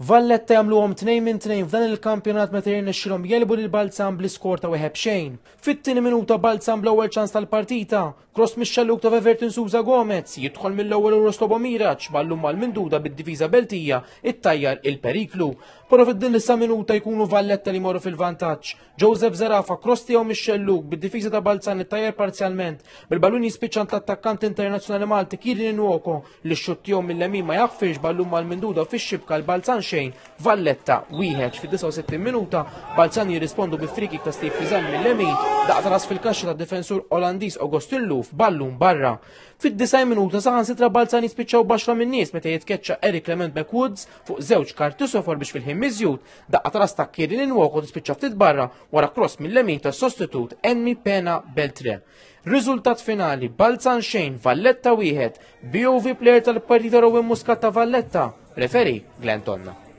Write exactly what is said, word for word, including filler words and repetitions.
Valletta jagħmluhom tnejn minn tnejn f'dan il-kampjonat meta jirnexxilhom jegħlbu lil Balzan bl-iskor ta' wieħed b'xejn. Fit-tieni minuta, Balzan bl-ewwel ċans tal-partita. Cross mix-xellug ta' Everton Souza Gomez jidħol mill-ewwel Uros Miraċ, ballun mal-minduda, bid-difiża Beltija ittajjar il-periklu. Però fid-din l minuta jkunu Valletta li morru fil-vantaġġ. Joseph Zerafa, cross tiegħu mix-xellug, bid-difiża ta' Balzan ittajjar parzjalment, bil-ballun jispiċċa l-attakkant internazzjonali Malti Kirin Nwoko, li x-xutt tiegħu mill-lemin ma jaħfirx, ballun mal-minduda fix-xibka. L-Balzan xejn, Valletta wieħed. Fid-disgħa u sittin minuta Balzan jirrispondu bi free kick ta' Steve Pisani mill-lemin, daqqa ras fil-kaxxa ta' difensur Olandiż Augustin Luf, ballun barra. Fid-disgħin minuta saħansitra Balzan jispiċċaw b'għaxra min-nies meta jitkeċċa Eric Clement McWoods fuq żewġ karti sofor, biex fil-ħin miżjud daqqa ras ta' Kierin Nwoko tispiċċa ftit barra wara cross mill-lemin ta' sostitut Enmi Pena Beltre. Riżultat finali: Balzan xejn, Valletta wieħed. B O V player tal-partita Rowan Muscat ta' Valletta. Referee Glenn Tonna.